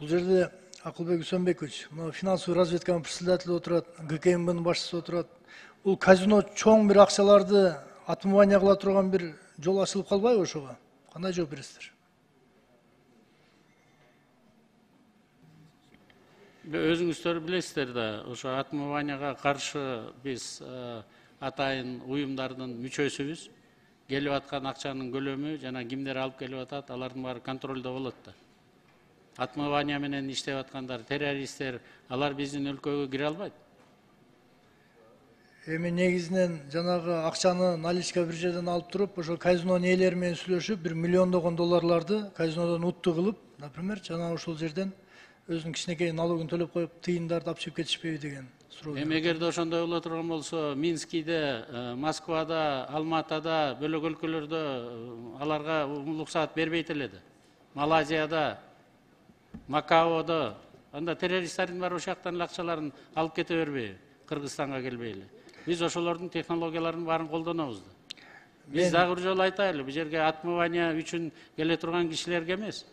Бул жерде Акылбек Үсөнбекович, финансовый разведканын председателі отурат, ГКМБнын башчысы отурат. Бул казино чоң бир акчаларды отмывание кыла турган бир жол ачылып калбайбы ошого? Кандай жооп бересиздер? Өзүңүздөр билесиздер да, ошо отмыванияга каршы биз атайын уюмдардын мүчөсүбүз. Келип аткан акчанын көлөмү жана кимдер алып келип атат, алардын баары контролдо болот да. Отмывания менен иштеп аткандар, террористтер, алар биздин өлкөгө кире албайт. Эми негизинен жанагы акчаны наличка бир жерден алып туруп, ошо казинонун ээлери менен сүйлөшүп, бир миллиондогон долларларды казинодон утту кылып, например, жана ошол жерден өзүнүн кичинекей налогун төлөп коюп, тыйындарды алып чыгып кетишпейби деген суроо. Эми эгерде ошондой боло турган болсо, Минскиде, Москвада, Алматада, бөлөк өлкөлөрдө аларга уруксаат бербейт эле да. Малайзияда, Макаодо, анда террористтердин баары ошол жактан акчаларын алып кете бербейби? Кыргызстанга келбей эле. Биз ошолордун технологияларын баарын колдонобуз да. Биз дагы бир жолу айтайлы, бул жерге отмывание үчүн келе турган кишилерге эмес.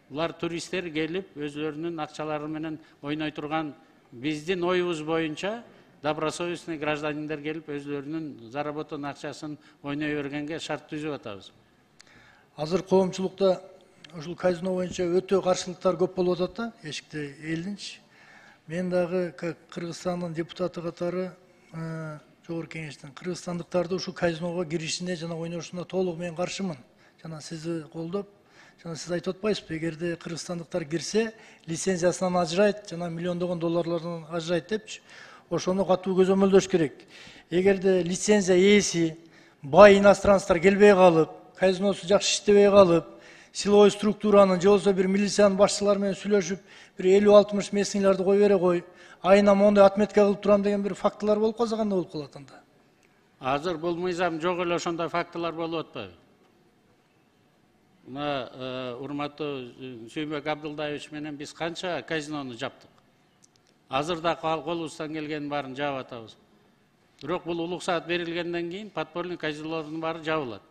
Булар туристтер келип, өзлөрүнүн акчалары менен ойной турган, биздин оюбуз боюнча добросовестный гражданиндер келип, өзлөрүнүн заработан акчасын ойной бергенге шарт түзүп атабыз. Азыр коомчулукта ушул казино боюнча өтө каршылыктар көп болуп атат да, эшикте элдинчи. Мен дагы Кыргызстандын депутаты катары Жогорку Кеңештин кыргызстандыктарды ушул казиного киришине жана ойношуна толук мен каршымын. Жана сизди колдоп, жана сиз айтып атпайсызбы, эгерде кыргызстандыктар кирсе, лицензиясынан ажырайт, жана миллиондогон долларлардан ажырайт депчи. Ошону катуу көзөмөлдөш керек. Эгерде лицензия ээси бай иностранцтар келбей калып, казиносу жакшы иштебей калып, силовой структуранын же болбосо бир милициянын башчылары менен сүйлөшүп, бир 50-60 местныйларды кой бере кой, айына мондай отметка кылып турам деген бир фактылар болуп калса кандай болуп калат анда? Азыр бул мыйзам жок эле ошондой фактылар болуп атпайбы? Мына урматтуу Сүйүнбек Абдылдаевич менен биз канча казинону жаптык. Азыр да колубуздан келгенин баарын жаап атабыз. Бирок бул улук саат берилгенден кийин подпольный казинолордун баары жабылат.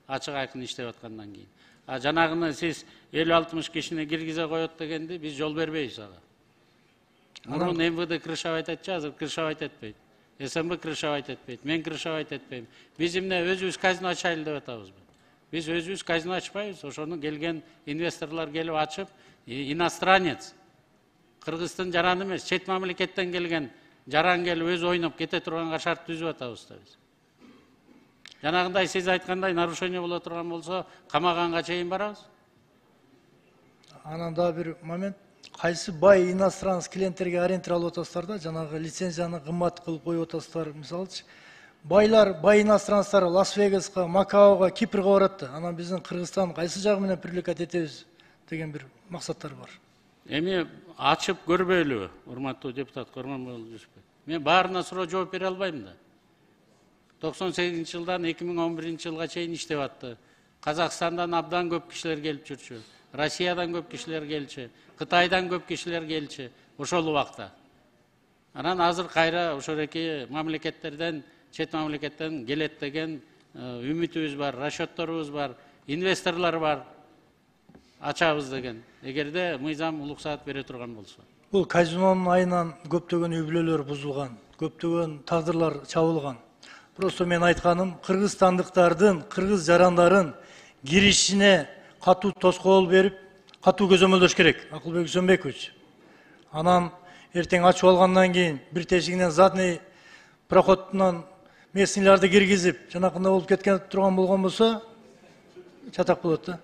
Ачык айкын иштеп аткандан кийин. Жанагыны сиз 50-60 кишини киргизе коет дегенди биз жол бербейбиз ага. Мурун МВД крышавайт айтчу, азыр крышавайт этпейт. СМБ крышавайт этпейт, мен крышавайт этпейм. Биз эмне өзүбүз казино ачайлы деп атабызбы? Биз өзүбүз казино ачпайбыз, ошону келген инвесторлор келип ачып, иностранец, кыргыздын жараны эмес, чет мамлекеттен келген жаран келип өзү ойноп кете турганга шарт түзүп атабыз да биз. Жанагындай сиз айткандай нарушение боло турган болсо, камаганга чейин барабыз. Анан да бир момент, кайсы бай иностранец клиенттерге арендер алып атасыздар да, жанагы лицензияны кымбат кылып коюп атасыздар, мисалычы. Байлар, бай иностранцтар Лас-Вегаска, Макаого, Кипрге барат да. Анан биздин Кыргызстан кайсы жагы менен привлекать этебиз деген бир максаттар бар. Эми ачып көрбөйлүбү, урматтуу депутат Корманбай Жүсүпов? Мен баарына суроо жооп бере албайм да. 98-жылдан 2011-жылга чейин иштеп атты. Казакстандан абдан көп кишилер келип жүрчү. Россиядан көп кишилер келчү, Кытайдан көп кишилер келчү ошол убакта. Анан азыр кайра ошол эки мамлекеттерден, чет мамлекеттен келет деген үмүтүбүз бар, расчетторубуз бар, инвесторлор бар. Ачабыз деген. Эгерде мыйзам улук саат бере турган болсо. Бул казинонун айынан көптөгөн үй бүлөлөр бузулган, көптөгөн тагдырлар чабылган. Просто мен айтканым, кыргызстандыктардын, кыргыз жарандарын киришине катуу тоскоол берип, катуу көзөмөлдөш керек, Акылбек Үсөнбекович. Анан эртең ачып алгандан кийин бир тешигинен задний проходунан местныйларды киргизип, жанакындай болуп кеткен турган болгон болсо, чатак болот да.